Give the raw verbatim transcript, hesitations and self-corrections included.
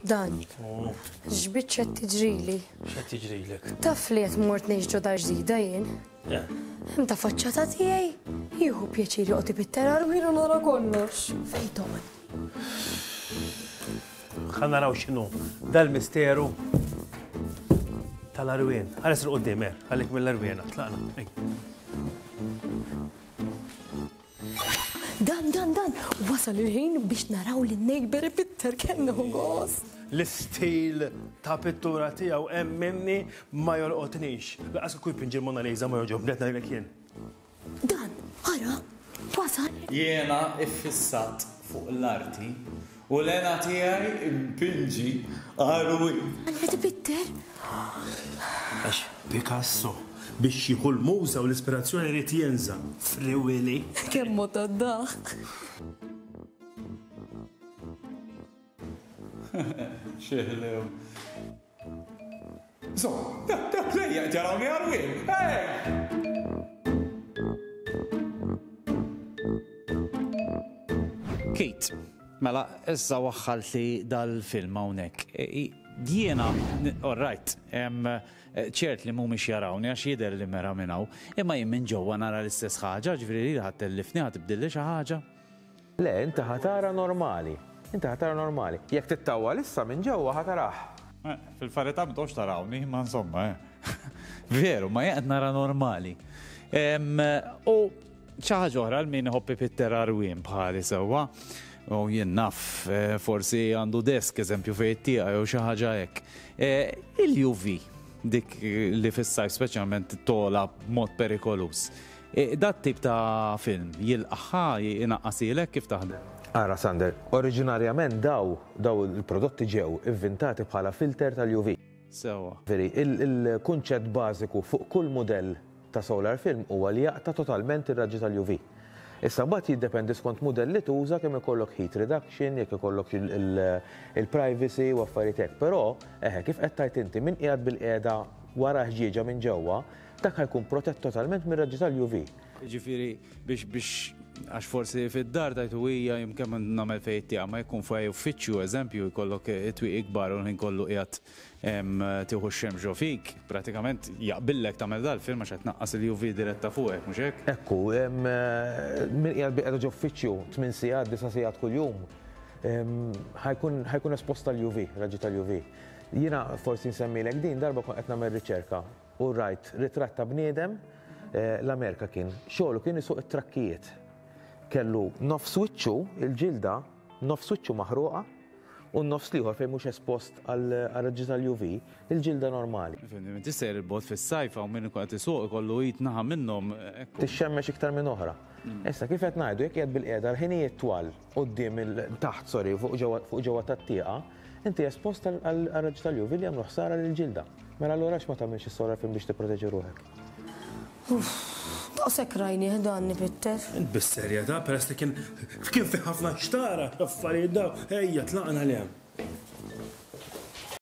Dan, x'biċċa tiġrili. X'qed tiġrilek? Taf li qed mort ngħix ġo dar ġdida jien. Hemm ta' faċċata tiegħi jieħu pjaċir joqgħod ipitter għarwien u nara kollox. Fejn Don? Ħa naraw x'inhu dal-misteru tal-għarwien. Ħares 'il quddiem, eh, ħallik mill-għarwiena, tlaqna. Ej. Dan, dan, dan, wasal il-ħin biex naraw li neighbor ipitter kemm nieħu gost. L-istil ta' pittura tiegħu hemm minni ma jolqotnix. Lanqas kieku jpinġi l-Mona Lisa ma jogħġobni qed ngħidlek jien. Dan, ara, wasal. Jiena iffissat fuq l-arti u l-hena tiegħi impinġi għarwien. Qed ipitter? Għax Picasso biex jieħu l-muża u l-ispirazzjoni jrid jinża'. Friwili. Kemm hu tad-daħk. Xi ħlew. So, dak dak lejja qed jarawni għarwien. Hey! Kate, mela issa waħħalt li dal-film hawnhekk. Jiena, all right, ċert li mhumiex jarawni għax jidher li mera minn hawn, imma jien minn ġewwa nara l-istess ħaġa, ġifieri li ħa tellifni, ħa tibdilli xi ħaġa. Le, inti ħa tara normali. Inti ħa tara normali. Jekk tittawwal issa minn ġewwa ħa tarah. Fil-verità m'intux tarawni, ma insomma, eh. Veru, ma jien qed nara normali. U xi ħaġa oħra għal min iħobb ipitter għarwien bħali sewwa, u jien naf, forsi għandu desk eżempju fejn it-tieqa jew xi ħaġa hekk. Il-U V, dik li fis-sajf speċjalment tola b'mod perikoluż. Dat tip ta' film jilqaħħa, inaqqasilek kif taħdem? Ara Sander, oriġinarjament daw, daw il-prodotti ġew ivvintati bħala filter tal-U V. Sewwa. Veri, il-kunċett bażiku fuq kull mudell ta' solar film huwa li jaqta' totalment ir-raġġi tal-U V. Issa mbagħad jiddependi skont mudell li tuża kemm ikollok heat reduction, jekk ikollok il-privacy u affarijiet hekk. Però, eħe, kif qed tgħid inti min qiegħed bil-qiegħda wara ħġieġa minn ġewwa, dak ħajkun protett totalment mir-raġġi tal-U V. Jiġifieri biex, biex għax forsi fid-dar tajtu hija jum kemm nagħmel fejn tiegħek, ma jkun fej uffiċċju eżempju jkollok twieqi kbar u l-ħin kollu qiegħed tieħu x-xemx ġo fik, pratikament jaqbillek tagħmel dal-film għax qed tnaqqas il-U V diretta fuqek, mhux hekk? Ekku, min qiegħed qiegħda ġo uffiċċju tmien sigħat, disa' sigħat kuljum, ħajkun, ħajkun espost tal-U V, raġġi tal-U V. Jiena forsi nsemmilek din darba kont qed nagħmel riċerka u rajt ritratt ta' bniedem, eh, l-Amerika kien, xogħlu kien isuq it-trakkijiet. Kellu nofs wiċċu, il-ġilda, nofs wiċċu maħruqa, u nofs l-ieħor fejn mhux espost għal raġġi tal-U V, il-ġilda normali. Fimni, inti sejr il-bot fis-sajf hawn min ikun qed isuq ikollu id naħa minnhom, ekku. Tixxemmex iktar minn oħra. Issa kif qed ngħidu, jekk qiegħed bil-qiegħda l-ħinijiet twal quddiem il taħt, sorry, fuq ġewwa, fuq ġewwa tat-tieqa, inti espost għal raġġi tal-U V li jagħmlu ħsara lill-ġilda. Mela allura għax ma tagħmilx is-solar film biex tipproteġi ruħek? Uff, daqshekk rajni dan nipitter. Int bis-serjetà, peress li kien, kien fi ħafna xtara, affarijiet daw, ejja tlaqna 'l hemm.